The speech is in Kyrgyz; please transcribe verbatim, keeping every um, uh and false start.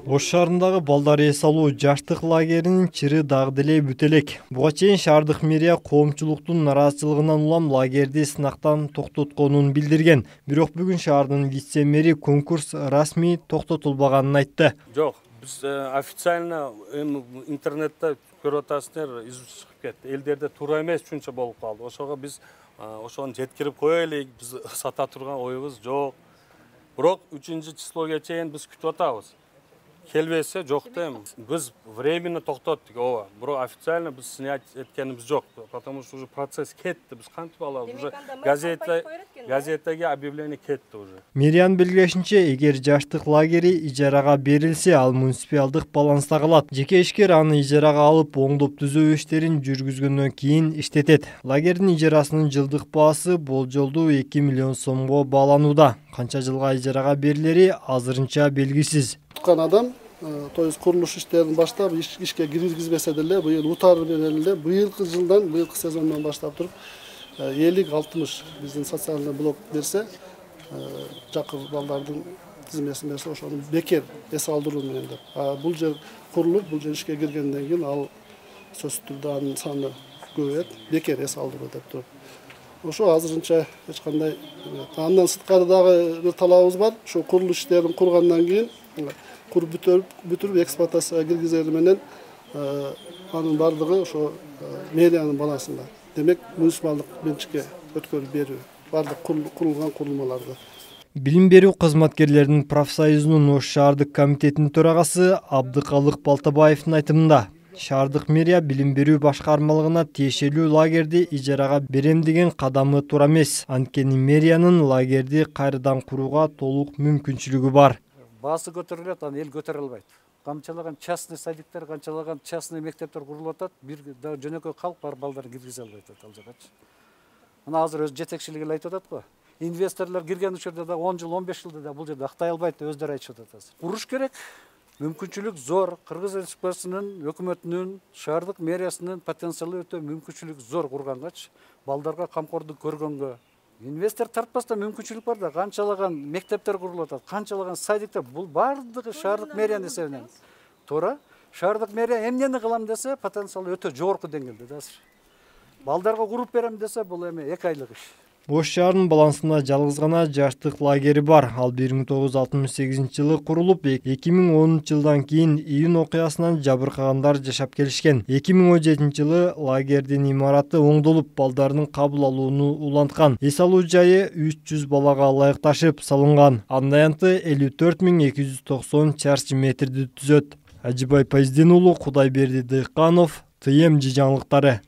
Ош шаарындагы балдар эс алуу жаштык лагеринин чыры дагы деле бүтө элек. Буга чейин шаардык мэрия коомчулуктун нараазычылыгынан улам лагерди сынактан токтотконун билдирген. Бирок бүгүн шаардын вице-мэри конкурс расмий токтотулбаганын айтты. Жок, биз официально интернетте көрүп атасыздар, изип чыгып кетти. Элдерде туура эмес үчүнчө болуп калды. Ошого биз ошону жеткирип коелик, биз сата турган оюбуз жок. Бирок үчүнчү числого чейин биз күтүп атабыз. Келбесе жок дейм. Биз временно токтоттук, ооба. Бирок официально биз снять эткенибиз жок, потому что уже процесс кетти. Биз кантип алабыз? Уже газета газетеге объявление кетти уже. Мэриянын белгилешинче, эгер жаштык лагери ижарага берилсе, ал муниципалдык баланста калат. Жеке ишкер аны ижарага алып, оңдоп түзөө иштерин жүргүзгөндөн кийин иштетет. Лагердин ижарасынын жылдык баасы болжолдуу эки миллион сомго бааланууда. Канча жылга ижарага берилери азырынча белгисиз. Туткан адам, то есть курулуш иштерин баштап ишке киргизбесе деле, быйыл утар менен эле быйылкы жылдан, быйылкы сезондон баштап туруп элүү алтымыш биздин социальный блок берсе, жакыр балдардын тизмесин берсе, ошону бекер эс алдыруу менен деп. А бул жер курулуп, бул жер ишке киргенден кийин ал сөзсүз түрдө анын саны көбөйөт, бекер эс алдыруу деп туруп. Ошо азырынча эч кандай. Андан сырткары дагы бир талабыбыз бар. Ошо курулуш иштерин кургандан кийин куруп бүтүрүп, бүтүрүп эксплуатацияга киргизери менен анын бардыгы ошо мэриянын балансында. Демек, муниципалдык менчикке өткөрүп берүү, бардык курулган курулмаларды. Билим берүү кызматкерлеринин профсоюзунун Ош шаардык комитетинин төрагасы Абдыкалык Балтабаевдин айтымында, шаардык мэрия билим берүү башкармалыгына тиешелүү лагерди ижарага берем деген кадамы туура эмес. Анткени мэриянын лагерди кайрадан курууга толук мүмкүнчүлүгү бар. Баасы көтөрүлөт, аны эл көтөрө албайт. Канчалаган частный садиктер, канчалаган частный мектептер курулуп атат, бир жөнөкөй калк бар балдарын киргизе албайт ал жагачы. Мына азыр өз жетекчилиги эле айтып атат го. Инвесторлор кирген учурда да он жыл, он беш жылда да бул жерде актай албайт деп өздөрү айтышып атат азыр. Куруш керек. Мүмкүнчүлүк зор. Кыргыз Республикасынын өкмөтүнүн, шаардык мэриясынын потенциалы өтө мүмкүнчүлүк зор кургангачы, балдарга камкордук көргөнгө инвестор тартпастан мүмкүнчүлүк бар да, канчалаган мектептер курулуп атат, канчалаган садиктер, бул бардыгы шаардык мэриянын эсебинен. Туура, шаардык мэрия эмнени кылам десе, потенциалы өтө жогорку деңгээлде да азыр. Балдарга куруп берем десе, бул эми эки айлык иш. Ош шаарынын балансында жалгыз гана жаштык лагери бар. Ал бир миң тогуз жүз алтымыш сегизинчи жылы курулуп, эки миң онунчу жылдан кийин июнь окуясынан жабыркагандар жашап келишкен. эки миң он жетинчи жылы лагердин имараты оңдолуп, балдардын кабыл алууну уланткан. Эс алуу жайы үч жүз балага ылайыкташып салынган. Анын аянты элүү төрт миң эки жүз токсон чарчы метрди түзөт. Ажыбай Пайздин уулу, Кудайберди Дыйканов, Т М Ж жаңылыктары.